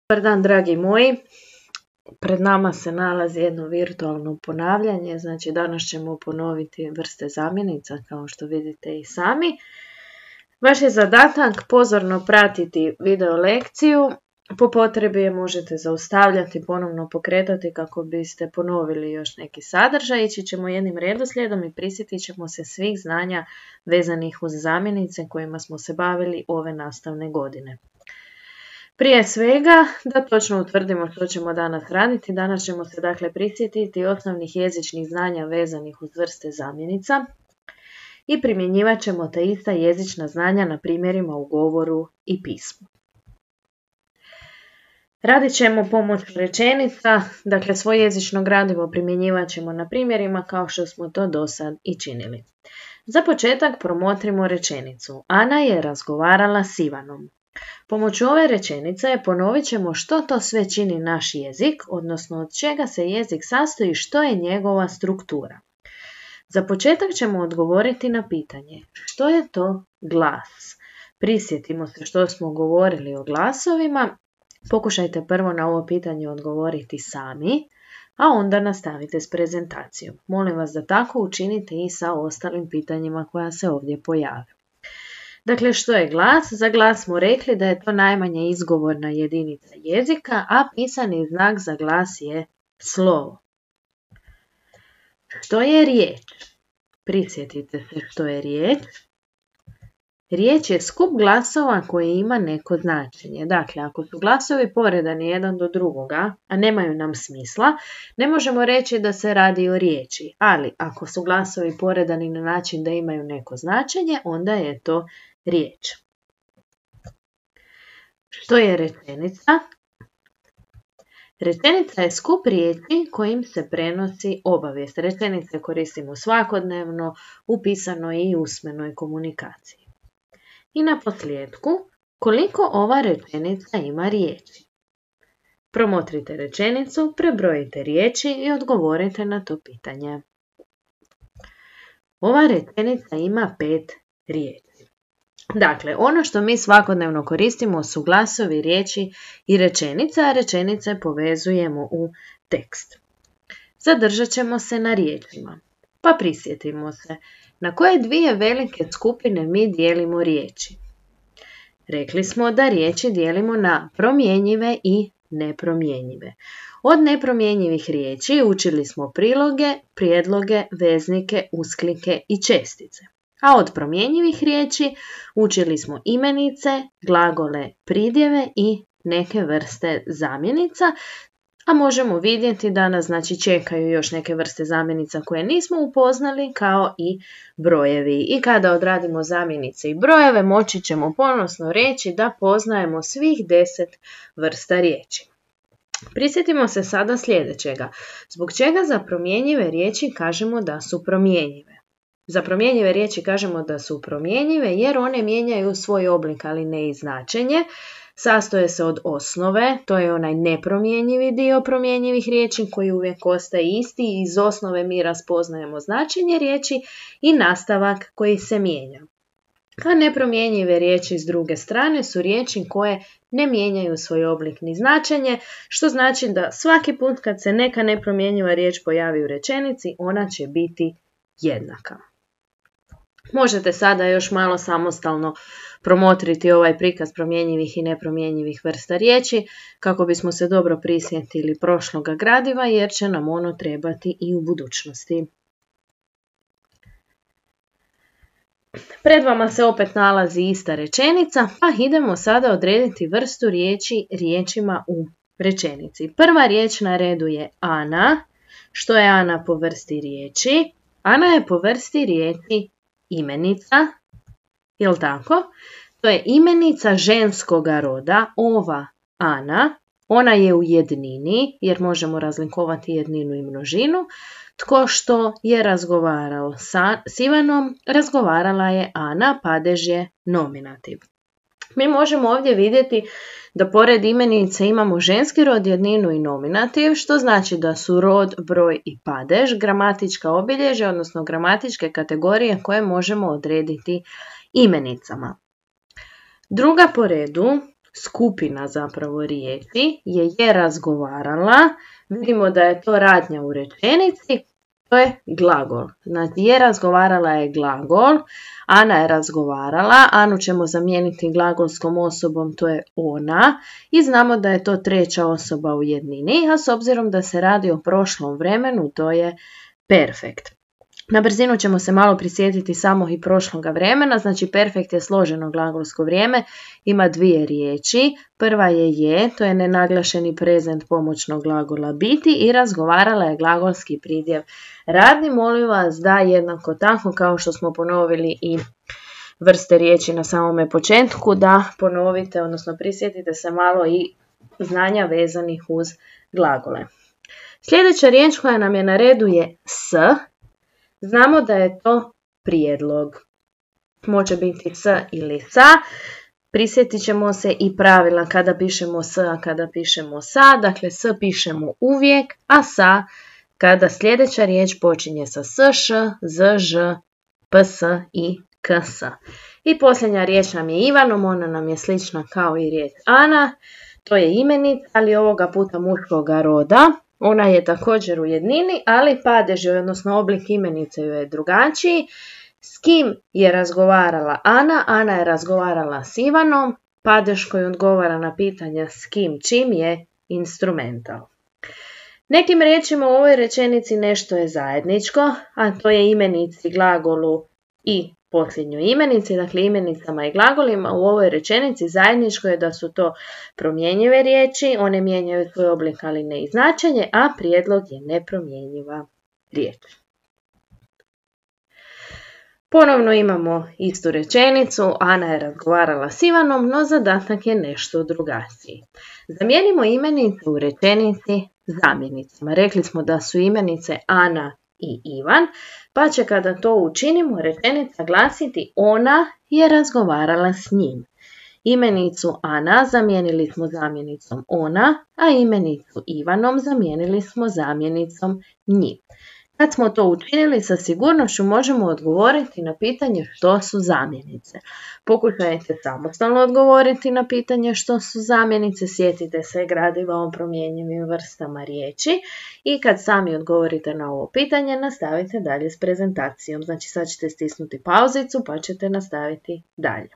Dobar dan, dragi moji. Pred nama se nalazi jedno virtualno ponavljanje, znači danas ćemo ponoviti vrste zamjenica kao što vidite i sami. Vaš je zadatak pozorno pratiti video lekciju, po potrebi je možete zaustavljati, ponovno pokretati kako biste ponovili još neki sadržaj. Ići ćemo jednim redoslijedom i prisjetit ćemo se svih znanja vezanih uz zamjenice kojima smo se bavili ove nastavne godine. Prije svega, da točno utvrdimo što ćemo danas raditi, danas ćemo se dakle prisjetiti osnovnih jezičnih znanja vezanih uz vrste zamjenica i primjenjivat ćemo ta ista jezična znanja na primjerima u govoru i pismu. Radit ćemo pomoću rečenica, dakle svoje jezično gradivo primjenjivat ćemo na primjerima kao što smo to do sad i činili. Za početak promotrimo rečenicu. Ana je razgovarala s Ivanom. Pomoću ove rečenice ponovit ćemo što to sve čini naš jezik, odnosno od čega se jezik sastoji, što je njegova struktura. Za početak ćemo odgovoriti na pitanje što je to glas. Prisjetimo se što smo govorili o glasovima, pokušajte prvo na ovo pitanje odgovoriti sami, a onda nastavite s prezentacijom. Molim vas da tako učinite i sa ostalim pitanjima koja se ovdje pojave. Dakle, što je glas? Za glas smo rekli da je to najmanja izgovorna jedinica jezika, a pisani znak za glas je slovo. Što je riječ? Prisjetite se što je riječ. Riječ je skup glasova koji ima neko značenje. Dakle, ako su glasovi poredani jedan do drugoga, a nemaju nam smisla, ne možemo reći da se radi o riječi. Ali ako su glasovi poredani na način da imaju neko značenje, onda je to riječ. Što je rečenica? Rečenica je skup riječi kojim se prenosi obavijest. Rečenice koristimo svakodnevno u pisanoj i usmenoj komunikaciji. I na posljedku, koliko ova rečenica ima riječi? Promotrite rečenicu, prebrojite riječi i odgovorite na to pitanje. Ova rečenica ima 5 riječi. Dakle, ono što mi svakodnevno koristimo su glasovi, riječi i rečenice, a rečenice povezujemo u tekst. Zadržat ćemo se na riječima, pa prisjetimo se na koje dvije velike skupine mi dijelimo riječi. Rekli smo da riječi dijelimo na promjenjive i nepromjenjive. Od nepromjenjivih riječi učili smo priloge, prijedloge, veznike, usklike i čestice. A od promjenjivih riječi učili smo imenice, glagole, pridjeve i neke vrste zamjenica, a možemo vidjeti da nas čekaju još neke vrste zamjenica koje nismo upoznali, kao i brojevi. I kada odradimo zamjenice i brojeve, moći ćemo ponosno reći da poznajemo svih 10 vrsta riječi. Prisjetimo se sada sljedećega. Zbog čega za promjenjive riječi kažemo da su promjenjive? Za promjenjive riječi kažemo da su promjenjive jer one mijenjaju svoj oblik, ali ne i značenje. Sastoje se od osnove, to je onaj nepromjenjivi dio promjenjivih riječi koji uvijek ostaje isti i iz osnove mi raspoznajemo značenje riječi i nastavak koji se mijenja. A nepromjenjive riječi s druge strane su riječi koje ne mijenjaju svoj oblik ni značenje, što znači da svaki put kad se neka nepromjenjiva riječ pojavi u rečenici, ona će biti jednaka. Možete sada još malo samostalno promotriti ovaj prikaz promjenjivih i nepromjenjivih vrsta riječi kako bismo se dobro prisjetili prošloga gradiva jer će nam ono trebati i u budućnosti. Pred vama se opet nalazi ista rečenica, pa idemo sada odrediti vrstu riječi riječima u rečenici. Prva riječ na redu je Ana. Što je Ana po vrsti riječi? Ana je po vrsti riječi imenica, jel tako? To je imenica ženskoga roda, ova Ana. Ona je u jednini, jer možemo razlikovati jedninu i množinu. Tko što je razgovarao s Ivanom, razgovarala je Ana, padež je nominativ. Mi možemo ovdje vidjeti da pored imenice imamo ženski rod, jedninu i nominativ, što znači da su rod, broj i padež gramatička obilježja, odnosno gramatičke kategorije koje možemo odrediti imenicama. Druga po redu skupina zapravo riječi je razgovarala. Vidimo da je to radnja u rečenici. To je glagol. Znači je razgovarala je glagol, Ana je razgovarala, Anu ćemo zamijeniti glagolskom osobom, to je ona i znamo da je to treća osoba u jednini, a s obzirom da se radi o prošlom vremenu, to je perfekt. Na brzinu ćemo se malo prisjetiti samo i prošloga vremena, znači perfekt je složeno glagolsko vrijeme, ima dvije riječi. Prva je, to je nenaglašeni prezent pomoćnog glagola biti i razgovarala je glagolski pridjev radni. Molim vas da jednako tako kao što smo ponovili i vrste riječi na samome početku, da ponovite, odnosno prisjetite se malo i znanja vezanih uz glagole. Sljedeća riječ koja nam je na redu je s. Znamo da je to prijedlog. Može biti s ili sa. Prisjetit ćemo se i pravila kada pišemo s, a kada pišemo sa. Dakle, s pišemo uvijek, a sa kada sljedeća riječ počinje sa s, š, z, ž, ps i ks. I posljednja riječ nam je Ivanom, ona nam je slična kao i riječ Ana. To je imenica, ali ovoga puta muškoga roda. Ona je također u jednini, ali padež, odnosno oblik imenice joj je drugačiji. S kim je razgovarala Ana? Ana je razgovarala s Ivanom. Padež koji odgovara na pitanja s kim, čim je instrumental. Nekim riječima u ovoj rečenici nešto je zajedničko, a to je imenici, glagolu i posljednjoj imenici, dakle imenicama i glagolima. U ovoj rečenici zajedničko je da su to promjenjive riječi, one mijenjaju svoj oblik ali ne i značenje, a prijedlog je nepromjenjiva riječ. Ponovno imamo istu rečenicu, Ana je razgovarala s Ivanom, no zadatak je nešto drugačiji. Zamijenimo imenice u rečenici zamjenicama. Rekli smo da su imenice Ana i Ivan, pa će kada to učinimo rečenica glasiti ona je razgovarala s njim. Imenicu Ana zamijenili smo zamjenicom ona, a imenicu Ivanom zamijenili smo zamjenicom njim. Kad smo to učinili, sa sigurnošću možemo odgovoriti na pitanje što su zamjenice. Pokušajte samostalno odgovoriti na pitanje što su zamjenice, sjetite se gradiva o promjenjivim vrstama riječi i kad sami odgovorite na ovo pitanje, nastavite dalje s prezentacijom. Znači sad ćete stisnuti pauzicu pa ćete nastaviti dalje.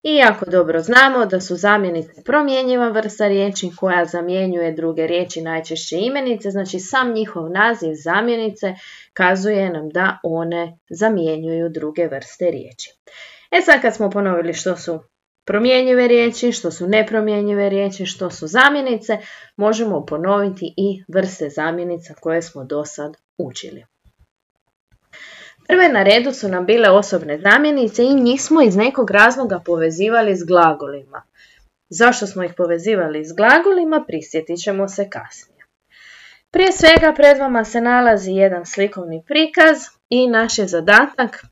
I jako dobro znamo da su zamjenice promjenjiva vrsta riječi koja zamjenjuje druge riječi, najčešće imenice, znači sam njihov naziv zamjenice kazuje nam da one zamjenjuju druge vrste riječi. Sad kad smo ponovili što su promjenjive riječi, što su nepromjenjive riječi, što su zamjenice, možemo ponoviti i vrste zamjenica koje smo do sad učili. Prve na redu su nam bile osobne zamjenice i njih smo iz nekog razloga povezivali s glagolima. Zašto smo ih povezivali s glagolima, prisjetit ćemo se kasnije. Prije svega pred vama se nalazi jedan slikovni prikaz i naš je zadatak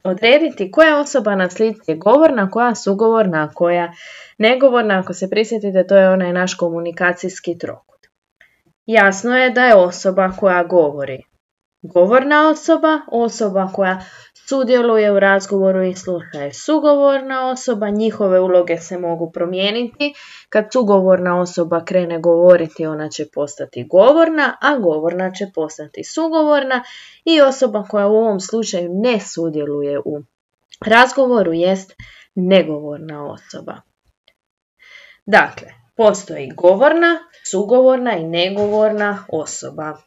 odrediti koja osoba na slici je govorna, koja sugovorna, a koja negovorna. Ako se prisjetite, to je onaj naš komunikacijski trokut. Jasno je da je osoba koja govori govorna osoba, osoba koja sudjeluje u razgovoru i sluša je sugovorna osoba, njihove uloge se mogu promijeniti. Kad sugovorna osoba krene govoriti, ona će postati govorna, a govorna će postati sugovorna i osoba koja u ovom slučaju ne sudjeluje u razgovoru jest negovorna osoba. Dakle, postoji govorna, sugovorna i negovorna osoba.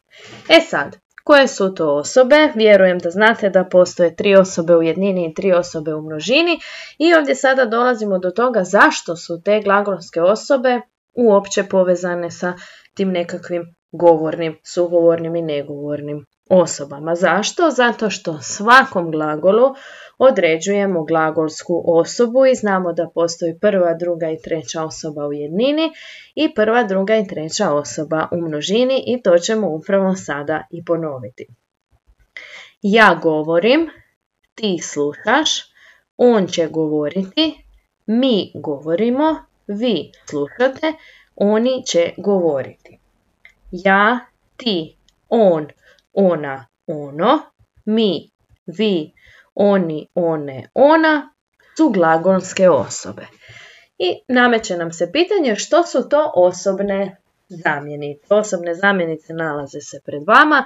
Sad, koje su to osobe? Vjerujem da znate da postoje 3 osobe u jednini i 3 osobe u množini i ovdje sada dolazimo do toga zašto su te glagolske osobe uopće povezane sa tim nekakvim govornim, sugovornim i negovornim osobama. Zašto? Zato što svakom glagolu određujemo glagolsku osobu i znamo da postoji prva, druga i treća osoba u jednini i prva, druga i treća osoba u množini i to ćemo upravo sada i ponoviti. Ja govorim, ti slušaš, on će govoriti, mi govorimo, vi slušate, oni će govoriti. Ja, ti, on, ona, ono, mi, vi, oni, one, ona su glagolske osobe. I nameće nam se pitanje što su to osobne zamjenice. Osobne zamjenice nalaze se pred vama.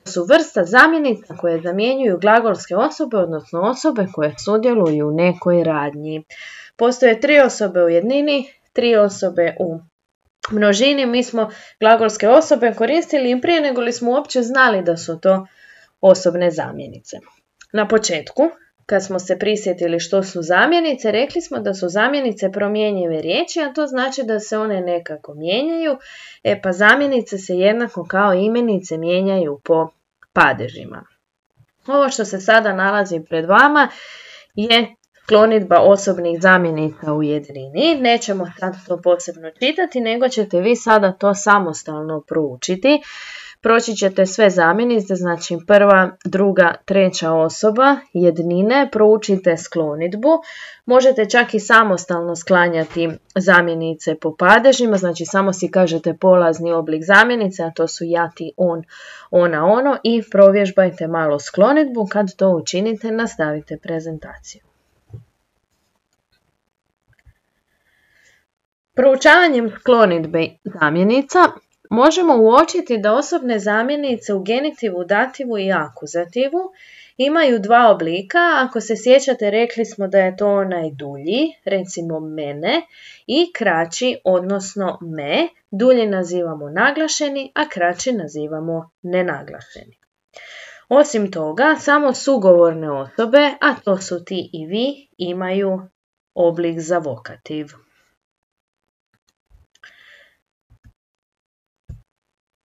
To su vrsta zamjenica koje zamjenjuju glagolske osobe, odnosno osobe koje sudjeluju u nekoj radnji. Postoje 3 osobe u jednini, 3 osobe u množini. Mi smo glagolske osobe koristili i prije nego li smo uopće znali da su to osobne zamjenice. Na početku, kad smo se prisjetili što su zamjenice, rekli smo da su zamjenice promjenjive riječi, a to znači da se one nekako mijenjaju. Pa zamjenice se jednako kao imenice mijenjaju po padežima. Ovo što se sada nalazi pred vama je sklonidba osobnih zamjenica u jednini. Nećemo sad to posebno čitati, nego ćete vi sada to samostalno proučiti. Proći ćete sve zamjenice, znači prva, druga, treća osoba jednine, proučite sklonidbu. Možete čak i samostalno sklanjati zamjenice po padežima, znači samo si kažete polazni oblik zamjenice, a to su ja, ti, on, ona, ono i provježbajte malo sklonidbu. Kad to učinite, nastavite prezentaciju. Proučavanjem sklonidbe zamjenica možemo uočiti da osobne zamjenice u genitivu, dativu i akuzativu imaju 2 oblika. Ako se sjećate, rekli smo da je to onaj dulji, recimo mene, i kraći, odnosno me. Dulji nazivamo naglašeni, a kraći nazivamo nenaglašeni. Osim toga, samo sugovorne osobe, a to su ti i vi, imaju oblik za vokativ.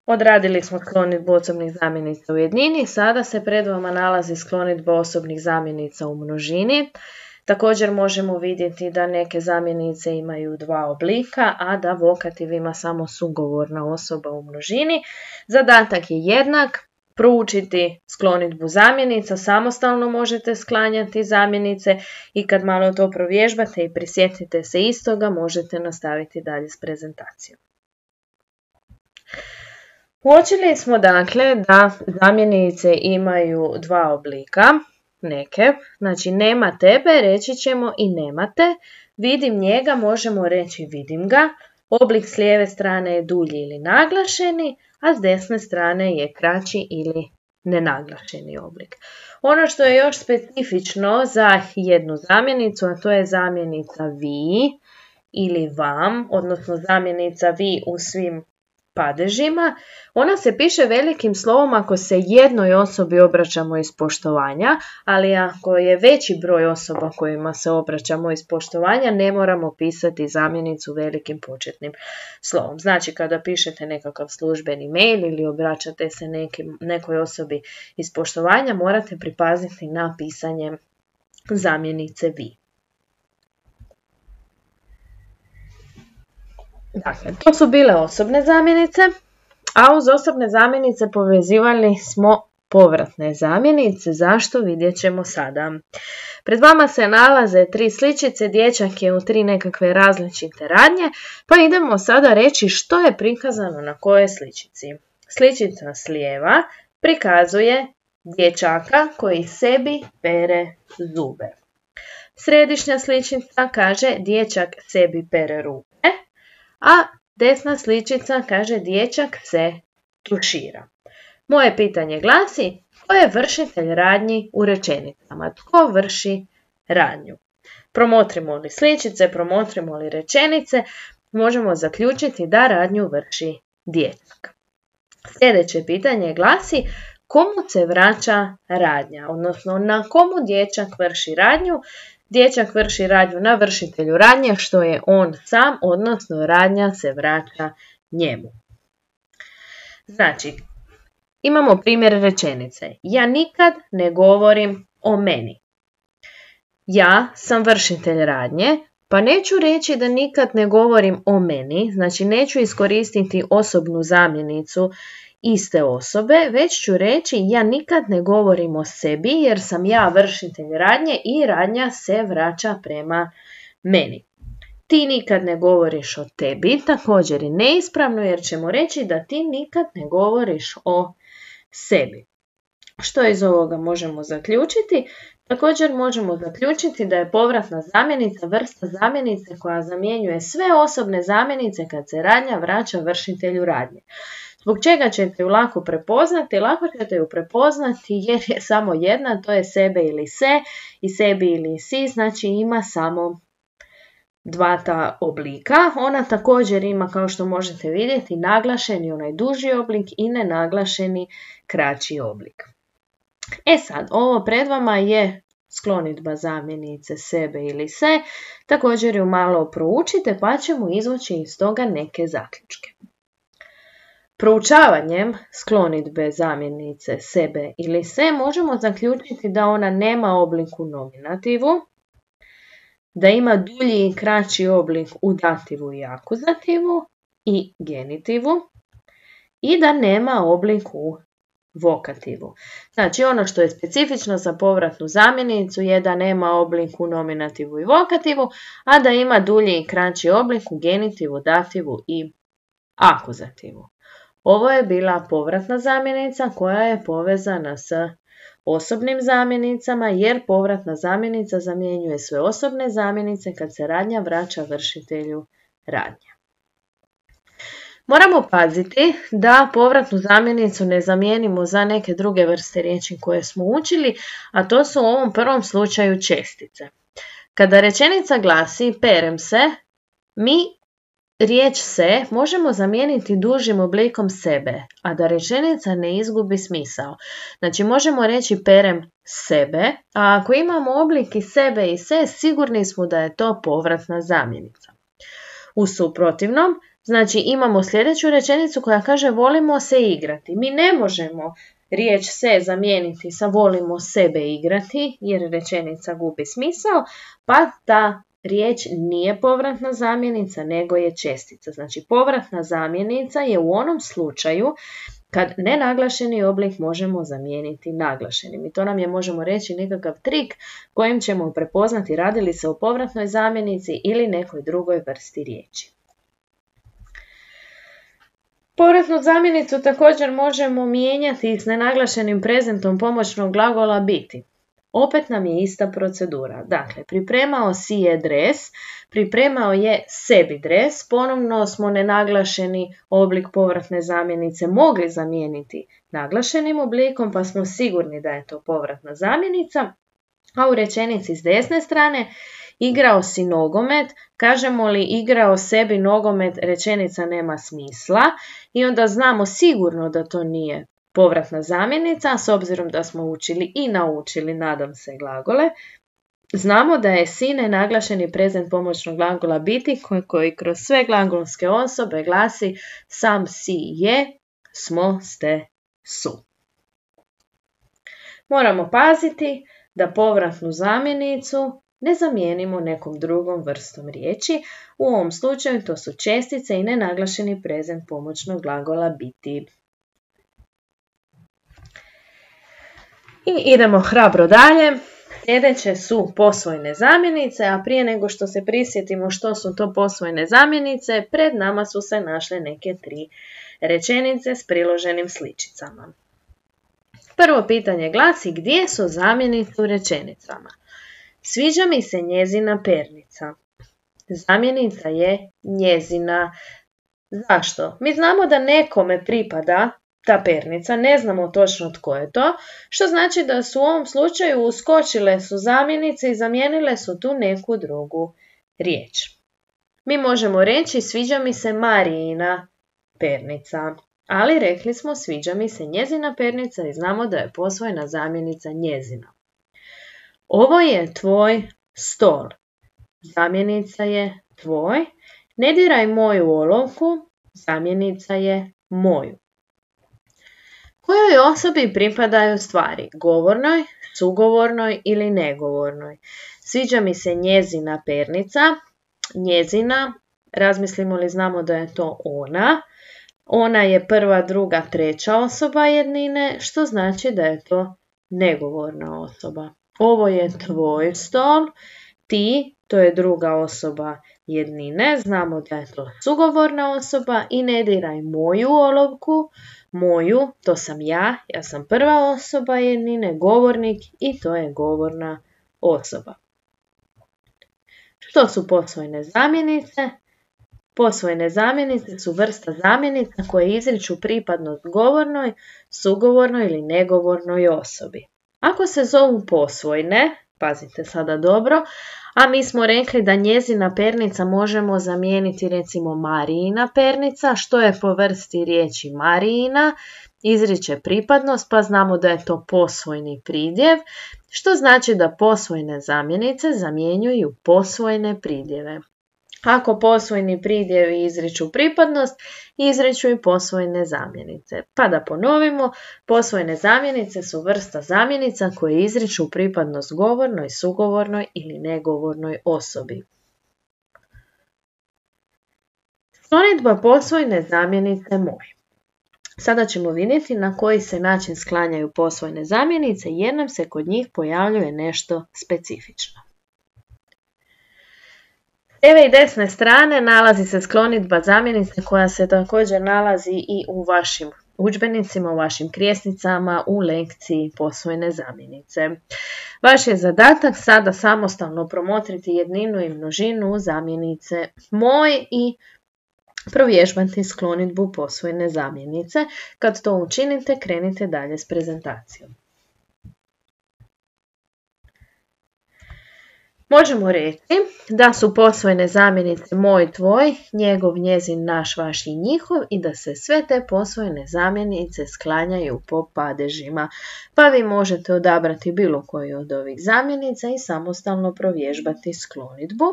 Odradili smo sklonidbu osobnih zamjenica u jednini, sada se pred vama nalazi sklonidba osobnih zamjenica u množini. Također možemo vidjeti da neke zamjenice imaju 2 oblika, a da vokativ ima samo sugovorna osoba u množini. Zadatak je jednak, proučiti sklonidbu zamjenica, samostalno možete sklanjati zamjenice i kad malo to provježbate i prisjetite se istoga, možete nastaviti dalje s prezentacijom. Uočili smo dakle da zamjenice imaju 2 oblika, neke, znači nema tebe, reći ćemo i nemate, vidim njega, možemo reći vidim ga, oblik s lijeve strane je dulji ili naglašeni, a s desne strane je kraći ili nenaglašeni oblik. Ono što je još specifično za jednu zamjenicu, a to je zamjenica vi ili vam, odnosno zamjenica vi u svim padežima, ona se piše velikim slovom ako se jednoj osobi obraćamo iz poštovanja, ali ako je veći broj osoba kojima se obraćamo iz poštovanja, ne moramo pisati zamjenicu velikim početnim slovom. Znači kada pišete nekakav službeni mail ili obraćate se nekoj osobi iz poštovanja, morate pripaziti na pisanje zamjenice vi. Dakle, to su bile osobne zamjenice, a uz osobne zamjenice povezivali smo povratne zamjenice. Zašto? Vidjet ćemo sada. Pred vama se nalaze 3 sličice, dječak je u 3 nekakve različite radnje, pa idemo sada reći što je prikazano na kojoj sličici. Sličica s lijeva prikazuje dječaka koji sebi pere zube. Središnja sličica kaže dječak sebi pere ruke, a desna sličica kaže dječak se tušira. Moje pitanje glasi, tko je vršitelj radnji u rečenicama? Tko vrši radnju? Promotrimo li sličice, promotrimo li rečenice, možemo zaključiti da radnju vrši dječak. Sljedeće pitanje glasi, komu se vraća radnja? Odnosno, na komu dječak vrši radnju? Dječak vrši radnju na vršitelju radnje, što je on sam, odnosno radnja se vraća njemu. Znači, imamo primjer rečenice. Ja nikad ne govorim o meni. Ja sam vršitelj radnje, pa neću reći da nikad ne govorim o meni, znači neću iskoristiti osobnu zamjenicu iste osobe, već ću reći ja nikad ne govorim o sebi jer sam ja vršitelj radnje i radnja se vraća prema meni. Ti nikad ne govoriš o tebi, također je neispravno jer ćemo reći da ti nikad ne govoriš o sebi. Što iz ovoga možemo zaključiti? Također možemo zaključiti da je povratna zamjenica vrsta zamjenice koja zamjenjuje sve osobne zamjenice kad se radnja vraća vršitelju radnje. Zbog čega ćete ju lako prepoznati? Lako ćete ju prepoznati jer je samo jedna, to je sebe ili se, i sebi ili si, znači ima samo dva ta oblika. Ona također ima, kao što možete vidjeti, naglašeni onaj duži oblik i nenaglašeni kraći oblik. E sad, ovo pred vama je sklonidba zamjenice sebe ili se, također ju malo proučite pa ćemo izvući iz toga neke zaključke. Proučavanjem sklonidbe zamjenice sebe ili se možemo zaključiti da ona nema oblik u nominativu, da ima dulji i kraći oblik u dativu i akuzativu i genitivu i da nema oblik u vokativu. Znači ono što je specifično za povratnu zamjenicu je da nema oblik u nominativu i vokativu, a da ima dulji i kraći oblik u genitivu, dativu i akuzativu. Ovo je bila povratna zamjenica koja je povezana s osobnim zamjenicama jer povratna zamjenica zamjenjuje sve osobne zamjenice kad se radnja vraća vršitelju radnje. Moramo paziti da povratnu zamjenicu ne zamijenimo za neke druge vrste riječi koje smo učili, a to su u ovom prvom slučaju čestice. Kada rečenica glasi perem se, mi riječ se možemo zamijeniti dužim oblikom sebe, a da rečenica ne izgubi smisao. Znači možemo reći perem sebe, a ako imamo oblik i sebe i se, sigurni smo da je to povratna zamjenica. U suprotivnom, znači imamo sljedeću rečenicu koja kaže volimo se igrati. Mi ne možemo riječ se zamijeniti sa volimo sebe igrati jer rečenica gubi smisao, pa ta riječ nije povratna zamjenica nego je čestica. Znači povratna zamjenica je u onom slučaju kad nenaglašeni oblik možemo zamijeniti naglašenim. I to nam je, možemo reći, nekakav trik kojim ćemo prepoznati radi li se o povratnoj zamjenici ili nekoj drugoj vrsti riječi. Povratnu zamjenicu također možemo mijenjati s nenaglašenim prezentom pomoćnog glagola biti. Opet nam je ista procedura. Dakle, pripremao si je dres, pripremao je sebi dres, ponovno smo nenaglašeni oblik povratne zamjenice mogli zamijeniti naglašenim oblikom, pa smo sigurni da je to povratna zamjenica. A u rečenici s desne strane, igrao si nogomet, kažemo li igrao sebi nogomet, rečenica nema smisla i onda znamo sigurno da to nije povratna zamjenica, s obzirom da smo učili i naučili, nadam se, glagole. Znamo da je si nenaglašeni prezent pomoćnog glagola biti koji kroz sve glagolske osobe glasi sam, si, je, smo, ste, su. Moramo paziti da povratnu zamjenicu ne zamijenimo nekom drugom vrstom riječi. U ovom slučaju to su čestice i nenaglašeni prezent pomoćnog glagola biti. I idemo hrabro dalje. Sljedeće su posvojne zamjenice, a prije nego što se prisjetimo što su to posvojne zamjenice, pred nama su se našle neke 3 rečenice s priloženim sličicama. Prvo pitanje glasi gdje su zamjenice u rečenicama. Sviđa mi se njezina pernica. Zamjenica je njezina. Zašto? Mi znamo da nekome pripada ta pernica, ne znamo točno tko je to, što znači da su u ovom slučaju uskočile su zamjenice i zamijenile su tu neku drugu riječ. Mi možemo reći sviđa mi se Marijina pernica, ali rekli smo sviđa mi se njezina pernica i znamo da je posvojena zamjenica njezina. Ovo je tvoj stol. Zamjenica je tvoj. Ne diraj moju olovku. Zamjenica je moju. Kojoj osobi pripadaju stvari? Govornoj, sugovornoj ili negovornoj? Sviđa mi se njezina pernica. Njezina, razmislimo li znamo da je to ona. Ona je prva, druga, treća osoba jednine, što znači da je to negovorna osoba. Ovo je tvoj stol, ti, to je druga osoba jednine, znamo da je to sugovorna osoba i ne diraj moju olovku, moju, to sam ja sam prva osoba jednine, govornik i to je govorna osoba. Što su posvojene zamjenice? Posvojene zamjenice su vrsta zamjenica koje izriču pripadnost govornoj, sugovornoj ili negovornoj osobi. Ako se zovu posvojne, pazite sada dobro, a mi smo rekli da njezina pernica možemo zamijeniti recimo Marijina pernica, što je po vrsti riječi Marijina, izriče pripadnost, pa znamo da je to posvojni pridjev, što znači da posvojene zamjenice zamjenjuju posvojene pridjeve. Ako posvojni pridjevi izriču pripadnost, izriču i posvojene zamjenice. Pa da ponovimo, posvojene zamjenice su vrsta zamjenica koje izriču pripadnost govornoj, sugovornoj ili negovornoj osobi. Sklonidba posvojene zamjenice moj. Sada ćemo vidjeti na koji se način sklanjaju posvojene zamjenice jer nam se kod njih pojavljuje nešto specifično. S lijeve i desne strane nalazi se sklonidba zamjenice koja se također nalazi i u vašim udžbenicima, u vašim krijesnicama, u lekciji posvojene zamjenice. Vaš je zadatak sada samostalno promotriti jedninu i množinu zamjenice moj i provježbati sklonidbu posvojene zamjenice. Kad to učinite, krenite dalje s prezentacijom. Možemo reći da su posvojene zamjenice moj, tvoj, njegov, njezin, naš, vaš i njihov i da se sve te posvojene zamjenice sklanjaju po padežima. Pa vi možete odabrati bilo koju od ovih zamjenica i samostalno provježbati sklonidbu,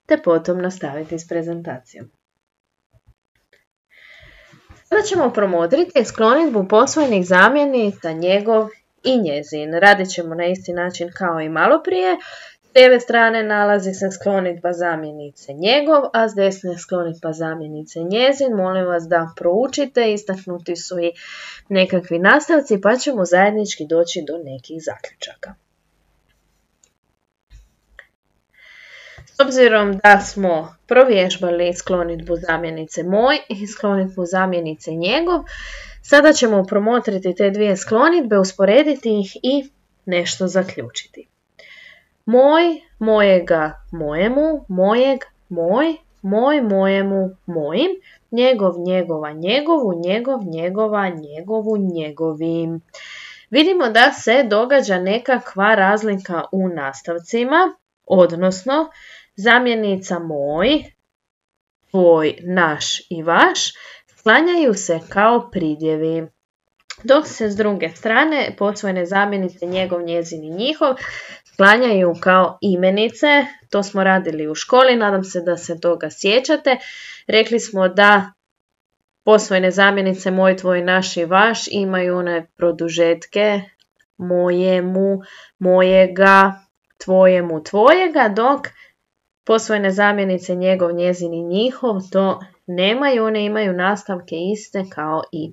te potom nastaviti s prezentacijom. Sada ćemo promotriti sklonidbu posvojenih zamjenica njegov i njezin. Radit ćemo na isti način kao i malo prije. S lijeve strane nalazi se sklonidba zamjenice njegov, a s desne sklonidba zamjenice njezin. Molim vas da proučite, istaknuti su i nekakvi nastavci pa ćemo zajednički doći do nekih zaključaka. S obzirom da smo provježbali sklonidbu zamjenice moj i sklonidbu zamjenice njegov, sada ćemo promotriti te dvije sklonidbe, usporediti ih i nešto zaključiti. Moj, mojega, mojemu, mojeg, moj, moj, mojemu, mojim, njegov, njegova, njegovu, njegov, njegova, njegovu, njegovim. Vidimo da se događa nekakva razlika u nastavcima, odnosno zamjenica moj, tvoj, naš i vaš sklanjaju se kao pridjevi. Dok se s druge strane posvojene zamjenice njegov, njezin i njihov sklanjaju kao imenice. To smo radili u školi, nadam se da se toga sjećate. Rekli smo da posvojene zamjenice moj, tvoj, naš i vaš imaju one produžetke mojemu, mojega, tvojemu, tvojega, dok posvojene zamjenice njegov, njezin i njihov to nemaju, one imaju nastavke iste kao i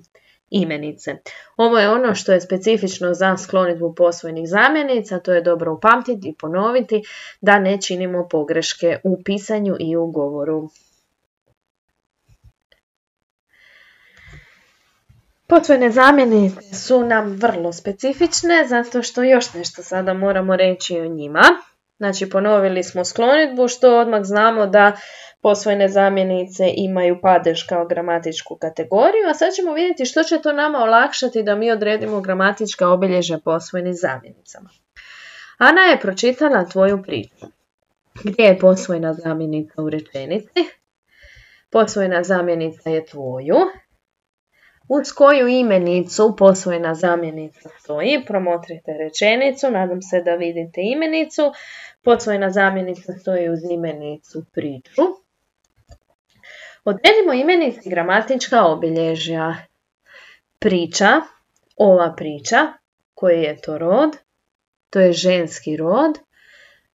imenice. Ovo je ono što je specifično za sklonidbu posvojenih zamjenica, to je dobro upamtiti i ponoviti da ne činimo pogreške u pisanju i u govoru. Posvojene zamjenice su nam vrlo specifične zato što još nešto sada moramo reći o njima. Znači ponovili smo sklonidbu što odmah znamo da posvojene zamjenice imaju padež kao gramatičku kategoriju, a sad ćemo vidjeti što će to nama olakšati da mi odredimo gramatička obilježja posvojenih zamjenicama. Ana je pročitala tvoju priču. Gdje je posvojena zamjenica u rečenici? Posvojena zamjenica je tvoju. Uz koju imenicu posvojena zamjenica stoji? Promotrite rečenicu, nadam se da vidite imenicu. Posvojena zamjenica stoji uz imenicu priču. Odredimo imenici gramatička obilježja. Priča, ova priča, koji je to rod? To je ženski rod.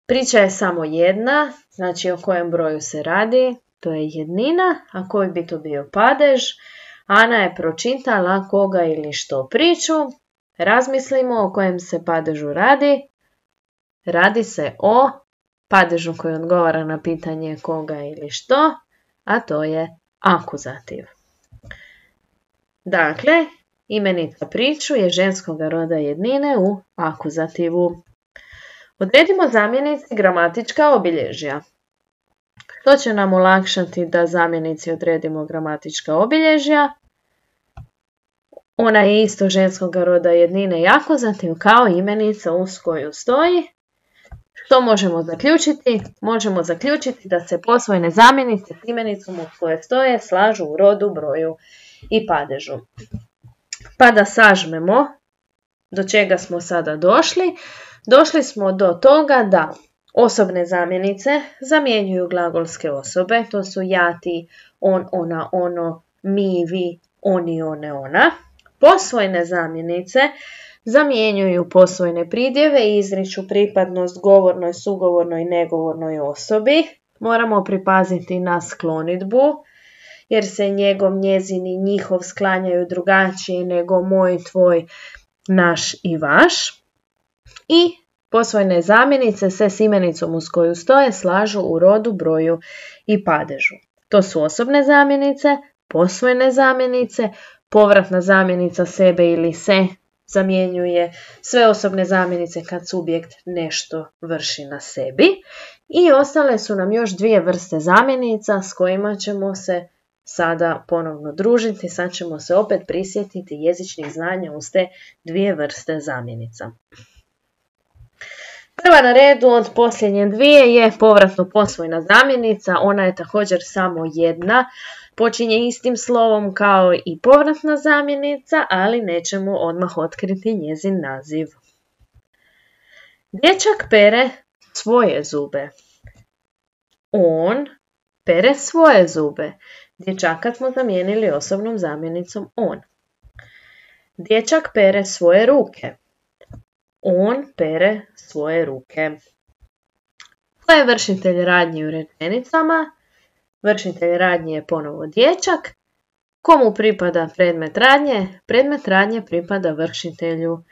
Priča je samo jedna, znači o kojem broju se radi, to je jednina, a koji bi to bio padež? Ana je pročitala koga ili što priču. Razmislimo o kojem se padežu radi. Radi se o padežu koji odgovara na pitanje koga ili što, a to je akuzativ. Dakle, imenica priču je ženskog roda jednine u akuzativu. Odredimo zamjenici gramatička obilježja. To će nam olakšati da zamjenici odredimo gramatička obilježja. Ona je isto ženskog roda jednine i akuzativ kao imenica uz koju stoji. Što možemo zaključiti? Možemo zaključiti da se posvojene zamjenice s imenicom uz koje stoje slažu u rodu, broju i padežu. Pa da sažmemo do čega smo sada došli. Došli smo do toga da osobne zamjenice zamjenjuju glagolske osobe. To su ja, ti, on, ona, ono, mi, vi, oni, one, ona. Posvojene zamjenice zamjenjuju posvojene pridjeve i izriču pripadnost govornoj, sugovornoj i negovornoj osobi. Moramo pripaziti na sklonidbu, jer se njegov, njezin i njihov sklanjaju drugačije nego moj, tvoj, naš i vaš. I posvojene zamjenice se s imenicom uz koju stoje slažu u rodu, broju i padežu. To su osobne zamjenice, posvojene zamjenice, povratna zamjenica sebe ili se zamjenjuje sve osobne zamjenice kad subjekt nešto vrši na sebi. I ostale su nam još dvije vrste zamjenica s kojima ćemo se sada ponovno družiti. Sad ćemo se opet prisjetiti jezičnih znanja uz te dvije vrste zamjenica. Prva na redu od posljednje dvije je povratno posvojna zamjenica. Ona je također samo jedna. Počinje istim slovom kao i povratna zamjenica, ali nećemo odmah otkriti njezin naziv. Dječak pere svoje zube. On pere svoje zube. Dječaka smo zamijenili osobnom zamjenicom on. Dječak pere svoje ruke. On pere svoje ruke. Ko je vršitelj radnji u rečenicama? Vršitelj radnje je ponovo dječak. Komu pripada predmet radnje? Predmet radnje pripada vršitelju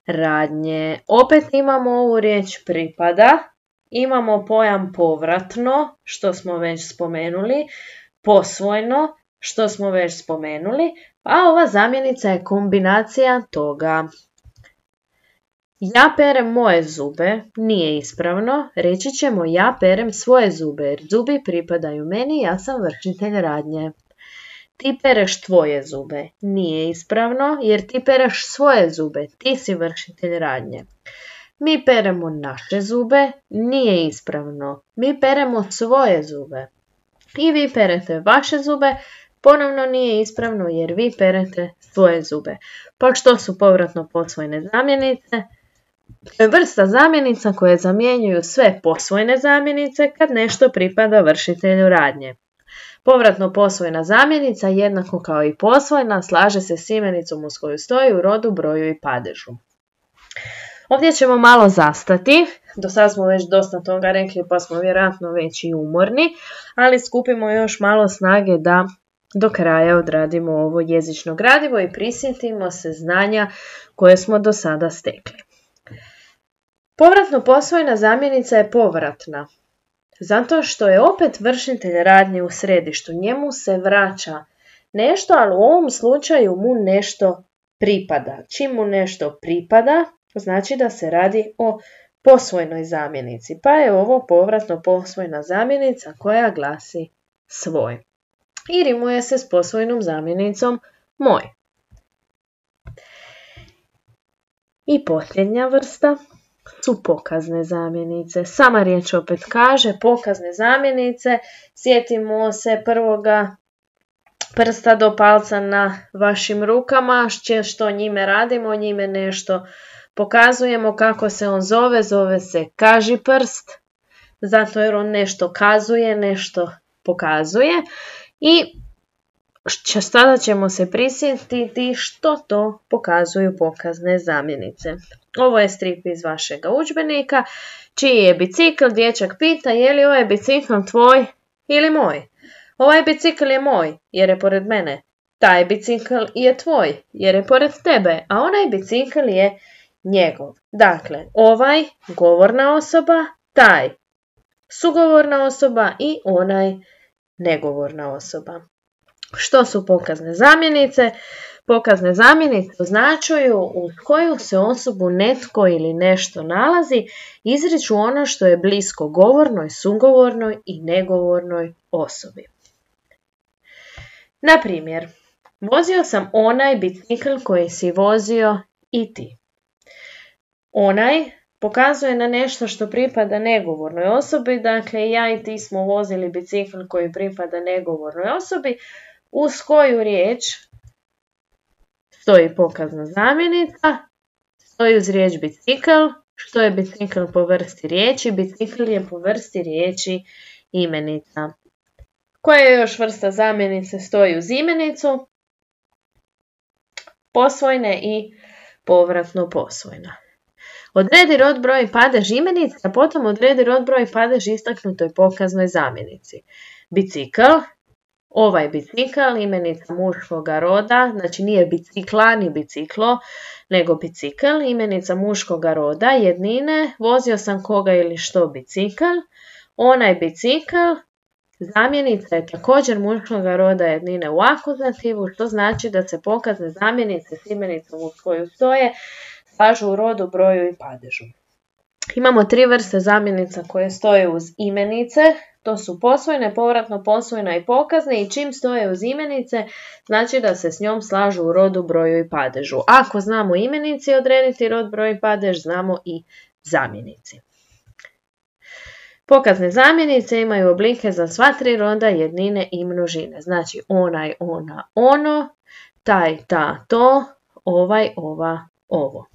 radnje. Opet imamo ovu riječ pripada. Imamo pojam povratno, što smo već spomenuli. Posvojno, što smo već spomenuli. A ova zamjenica je kombinacija toga. Ja perem moje zube, nije ispravno, reći ćemo ja perem svoje zube jer zubi pripadaju meni, ja sam vršitelj radnje. Ti pereš tvoje zube, nije ispravno jer ti pereš svoje zube, ti si vršitelj radnje. Mi peremo naše zube, nije ispravno, mi peremo svoje zube. I vi perete vaše zube, ponovno nije ispravno jer vi perete svoje zube. Pa što su povratno posvojene zamjenice? Vrsta zamjenica koje zamjenjuju sve posvojene zamjenice kad nešto pripada vršitelju radnje. Povratno posvojena zamjenica, jednako kao i posvojena, slaže se s imenicom uz koju stoji u rodu, broju i padežu. Ovdje ćemo malo zastati. Do sad smo već dosta toga rekli pa smo vjerojatno već i umorni, ali skupimo još malo snage da do kraja odradimo ovo jezično gradivo i prisjetimo se znanja koje smo do sada stekli. Povratno posvojena zamjenica je povratna, zato što je opet vršitelj radnje u središtu. Njemu se vraća nešto, ali u ovom slučaju mu nešto pripada. Čim mu nešto pripada, znači da se radi o posvojnoj zamjenici. Pa je ovo povratno posvojna zamjenica koja glasi svoj. I rimuje se s posvojnom zamjenicom moj. I posljednja vrsta su pokazne zamjenice. Sama riječ opet kaže pokazne zamjenice. Sjetimo se prvoga prsta do palca na vašim rukama. Što njime radimo? Njime nešto pokazujemo. Kako se on zove? Zove se kažiprst. Zato jer on nešto kazuje, nešto pokazuje. I sada ćemo se prisjetiti što to pokazuju pokazne zamjenice. Ovo je strip iz vašega udžbenika. Čiji je bicikl? Dječak pita je li ovaj bicikl tvoj ili moj. Ovaj bicikl je moj jer je pored mene. Taj bicikl je tvoj jer je pored tebe, a onaj bicikl je njegov. Dakle, ovaj govorna osoba, taj sugovorna osoba i onaj negovorna osoba. Što su pokazne zamjenice? Pokazne zamjenice označuju uz koju se osobu netko ili nešto nalazi, izriču ono što je blisko govornoj, sugovornoj i negovornoj osobi. Na primjer, vozio sam onaj bicikl koji si vozio i ti. Onaj pokazuje na nešto što pripada negovornoj osobi, dakle ja i ti smo vozili bicikl koji pripada negovornoj osobi, uz koju riječ stoji pokazna zamjenica, stoji uz riječ bicikl. Što je bicikl po vrsti riječi? Bicikl je po vrsti riječi imenica. Koja je još vrsta zamjenice stoji uz imenicu? Posvojne i povratno posvojna. Odredi rod, broj i padež imenice, a potom odredi rod, broj i padež istaknutoj pokaznoj zamjenici. Bicikl, ovaj bicikl, imenica muškoga roda, znači nije bicikla ni biciklo, nego bicikl, imenica muškoga roda, jednine, vozio sam koga ili što bicikl, onaj bicikl, zamjenica je također muškoga roda jednine u akuzativu, što znači da se pokazne zamjenice s imenicom uz koju stoje slažu u rodu, broju i padežu. Imamo 3 vrste zamjenica koje stoje uz imenice, to su posvojne, povratno posvojna i pokazne, i čim stoje uz imenice znači da se s njom slažu u rodu, broju i padežu. Ako znamo imenici odrediti rod, broj i padež, znamo i zamjenici. Pokazne zamjenice imaju oblike za sva 3 roda, jednine i množine. Znači onaj, ona, ono, taj, ta, to, ovaj, ova, ovo.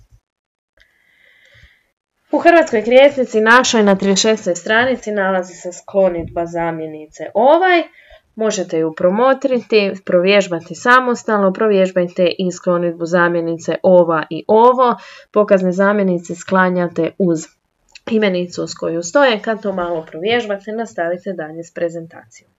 U hrvatskoj krijesnici našoj na 36. stranici nalazi se sklonidba zamjenice ovaj. Možete ju promotriti, provježbati samostalno, provježbajte i sklonidbu zamjenice ova i ovo. Pokazne zamjenice sklanjate uz imenicu s koju stoje. Kad to malo provježbate, nastavite dalje s prezentacijom.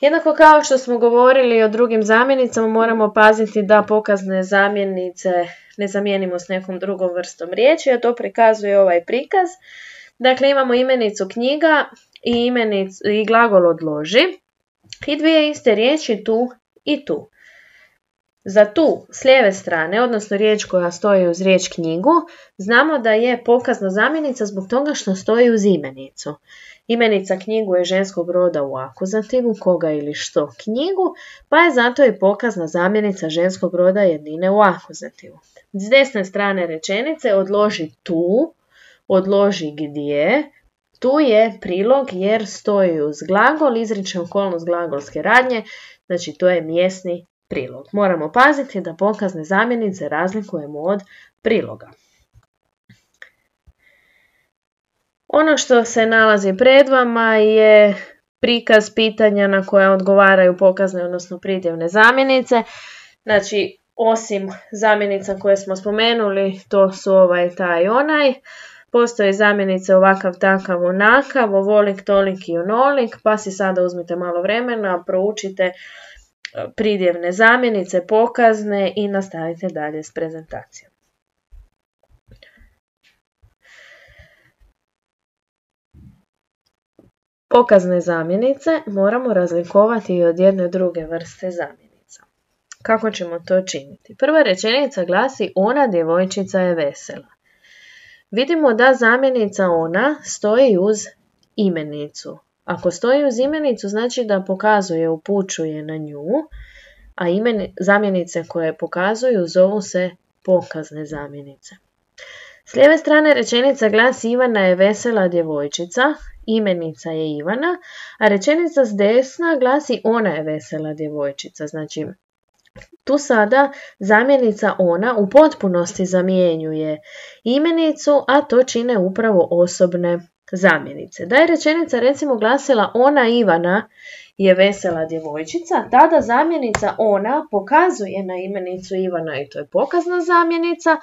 Jednako kao što smo govorili o drugim zamjenicama, moramo paziti da pokazne zamjenice ne zamijenimo s nekom drugom vrstom riječi, a to prikazuje ovaj prikaz. Dakle, imamo imenicu knjiga i glagol odloži i 2 iste riječi tu i tu. Za tu s lijeve strane, odnosno riječ koja stoji uz riječ knjigu, znamo da je pokazna zamjenica zbog toga što stoji uz imenicu. Imenica knjigu je ženskog roda u akuzativu, koga ili što knjigu, pa je zato i pokazna zamjenica ženskog roda jednine u akuzativu. S desne strane rečenice odloži tu, odloži gdje. Tu je prilog jer stoji uz glagol, izriče okolnost glagolske radnje, znači to je mjesni prilog. Moramo paziti da pokazne zamjenice razlikujemo od priloga. Ono što se nalazi pred vama je prikaz pitanja na koja odgovaraju pokazne, odnosno pridjevne zamjenice. Znači, osim zamjenica koje smo spomenuli, to su ovaj, taj, onaj. Postoje zamjenice ovakav, takav, onakav, ovolik, tolik i onolik, pa si sada uzmite malo vremena, proučite pridjevne zamjenice, pokazne i nastavite dalje s prezentacijom. Pokazne zamjenice moramo razlikovati i od jedne druge vrste zamjenica. Kako ćemo to činiti? Prva rečenica glasi: ona djevojčica je vesela. Vidimo da zamjenica ona stoji uz imenicu. Ako stoji uz imenicu znači da pokazuje, upućuje na nju, a zamjenice koje pokazuju zovu se pokazne zamjenice. S lijeve strane rečenica glasi: Ivana je vesela djevojčica, imenica je Ivana, a rečenica s desna glasi: ona je vesela djevojčica. Znači, tu sada zamjenica ona u potpunosti zamjenjuje imenicu, a to čine upravo osobne zamjenice. Da je rečenica recimo glasila: ona Ivana je vesela djevojčica, tada zamjenica ona pokazuje na imenicu Ivana i to je pokazna zamjenica,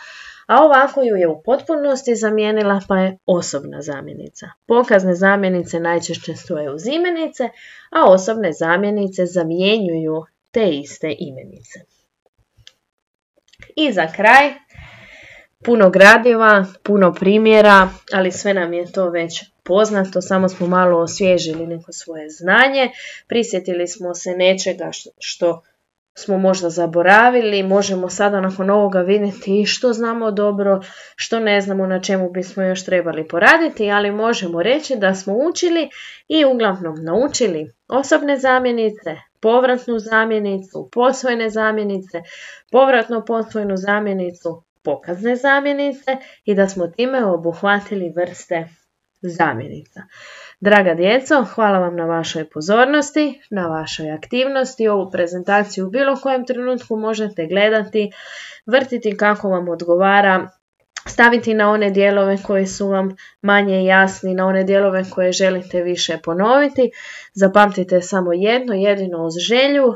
a ovako ju je u potpunosti zamijenila pa je osobna zamjenica. Pokazne zamjenice najčešće stoje uz imenice, a osobne zamjenice zamjenjuju te iste imenice. I za kraj, puno gradiva, puno primjera, ali sve nam je to već poznato, samo smo malo osvježili neko svoje znanje, prisjetili smo se nečega što smo možda zaboravili, možemo sada nakon ovoga vidjeti što znamo dobro, što ne znamo, na čemu bismo još trebali poraditi, ali možemo reći da smo učili i uglavnom naučili osobne zamjenice, povratnu zamjenicu, posvojene zamjenice, povratno posvojenu zamjenicu, pokazne zamjenice i da smo time obuhvatili vrste zamjenica. Draga djeco, hvala vam na vašoj pozornosti, na vašoj aktivnosti. Ovu prezentaciju u bilo kojem trenutku možete gledati, vrtiti kako vam odgovara, staviti na one dijelove koji su vam manje jasni, na one dijelove koje želite više ponoviti. Zapamtite samo jedno, jedino uz želju,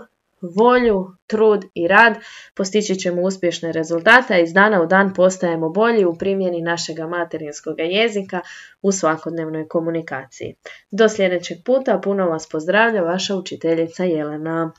volju, trud i rad postići ćemo uspješne rezultate, a iz dana u dan postajemo bolji u primjeni našega materinskog jezika u svakodnevnoj komunikaciji. Do sljedećeg puta, puno vas pozdravlja vaša učiteljica Jelena.